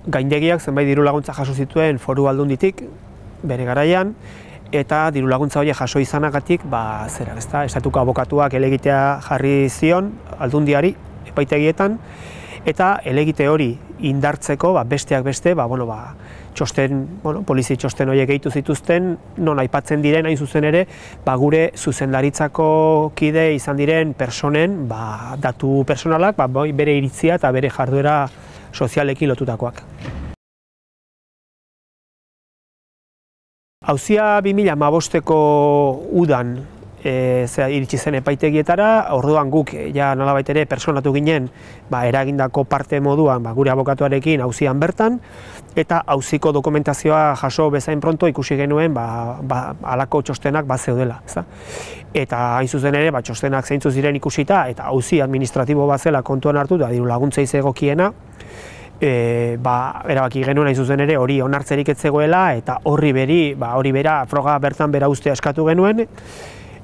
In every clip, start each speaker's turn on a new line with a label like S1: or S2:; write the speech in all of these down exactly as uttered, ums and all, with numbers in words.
S1: gaindegiak zenbait diru laguntza jaso zituen Foru Aldunditik bere garaian, eta diru laguntza horiek jaso izanagatik, ba, zera, ezta, estatuko abokatuak helegitea jarri zion Aldundiari epaitegietan, eta helegite hori indartzeko, ba, besteak beste, ba, bueno, ba, txosten, bueno, polizi txosten horiek gehitu zituzten, non aipatzen diren hain zuzen ere, ba, gure zuzendaritzako kide izan diren personen, ba, datu personalak, ba, bere iritzia eta bere jarduera sozialekin lotutakoak. Auzia bi mila hamabosteko udan e, iritsi zen epaitegietara, orduan guk ja nolabait ere personatu ginen ba, eragindako parte moduan ba, gure abokatuarekin auzian bertan, eta auziko dokumentazioa jaso bezain pronto ikusi genuen ba, ba, halako txostenak bat zeudela. Ezta? Eta hain zuzen ere, ba, txostenak zeintzu ziren ikusita, eta auzi administratibo bat zela kontuan hartu, da diru laguntza izegokiena, E, ba, erabaki genuen hain zuzen ere hori onartzerik ez zegoela, eta horri beri, ba, hori bera froga bertan bera ustea eskatu genuen,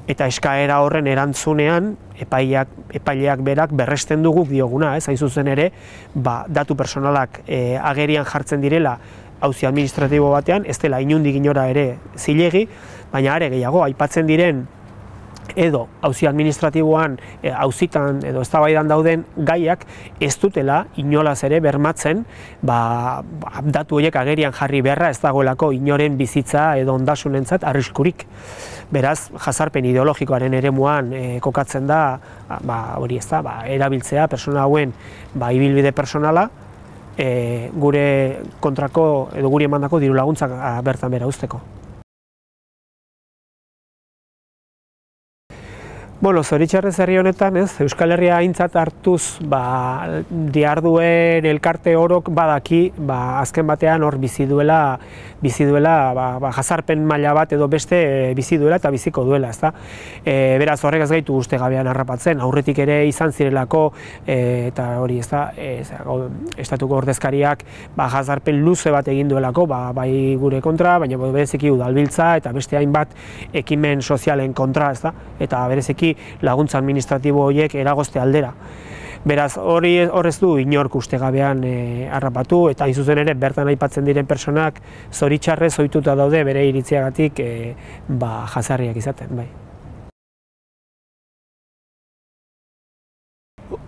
S1: eta eskaera horren erantzunean epaileak, epaileak berak berresten duguk dioguna, ez hain zuzen ere, ba, datu personalak e, agerian jartzen direla auzi administratibo batean, ez dela inundik inora ere zilegi, baina are gehiago aipatzen diren edo auzi administratiboan auzitan edo eztabaidan dauden gaiak ez dutela inolaz ere bermatzen ba, datu horiek agerian jarri beharra ez dagoelako inoren bizitza edo ondasunentzat arriskurik. Beraz, jazarpen ideologikoaren eremuan e, kokatzen da ba, hori ez da, ba, erabiltzea persona hauen ba, ibilbide personala e, gure kontrako edo guri emandako diru laguntzak bertan bera uzteko. Bueno, zoritxarrez herri honetan, ez, Euskal Herria aintzat hartuz, ba, diharduen elkarte orok badaki, ba, azken batean hor bizi duela, bizi duela, ba, ba, jazarpen maila bat edo beste e, bizi duela eta biziko duela, ezta? E, beraz, horrek ez gaitu uste gabean harrapatzen, aurretik ere izan zirelako, e, eta hori, ezta, e, estatuko ordezkariak, ba, jazarpen luze bat egin duelako, ba, bai gure kontra, baina bereziki udalbiltza eta beste hainbat ekimen sozialen kontra, ezta? Eta bereziki laguntza administratibo horiek eragozte aldera. Beraz, hori horrez du inork ustegabean e, harrapatu, eta hain zuzen ere bertan aipatzen diren personak zoritxarrez ohituta daude bere iritziagatik e, ba, jazarriak izaten, bai.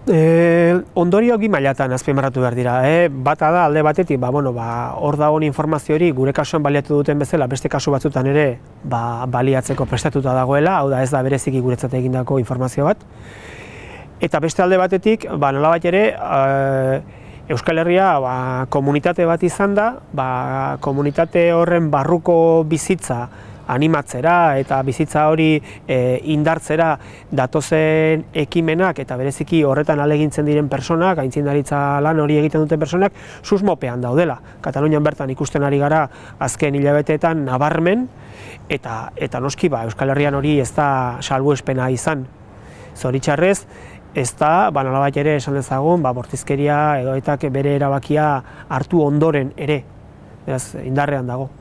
S1: E, ondorio bi mailatan azpimarratu behar dira. E, bata da alde batetik, ba, bueno, ba, hor dagoen informazio hori gure kasuan baliatu duten bezala, beste kasu batzutan ere ba, baliatzeko prestatuta dagoela, hau da ez da bereziki guretzat egindako informazio bat. Eta beste alde batetik, ba, nolabait ere, e, Euskal Herria ba, komunitate bat izan da, ba, komunitate horren barruko bizitza animatzera eta bizitza hori e, indartzera datozen ekimenak eta bereziki horretan alegintzen diren personak, aitzindaritza lan hori egiten duten personak, susmopean daudela. Katalunian bertan ikusten ari gara azken hilabeteetan nabarmen, eta, eta noski ba, Euskal Herrian hori ez da salbuespena izan. Zoritxarrez, ez da, ba, nolabait ere esan dezagun, ba, bortizkeria edo eta bere erabakia hartu ondoren ere, beraz, indarrean dago.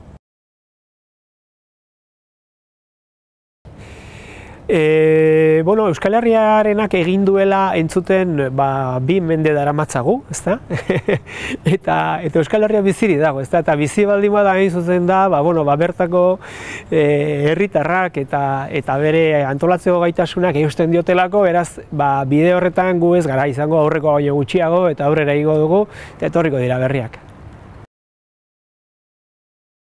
S1: E, bueno, Euskal Herriarenak egin duela entzuten ba, bi mende daramatzagu, ezta? eta, eta Euskal Herria biziri dago, ezta? Eta bizi baldin bada hain zuzen da, ba, bueno, ba, bertako e, herritarrak eta, eta bere antolatzeko gaitasunak eusten diotelako, beraz, ba, bide horretan gu ez gara izango aurreko baino gutxiago eta aurrera igo dugu, eta etorriko dira berriak.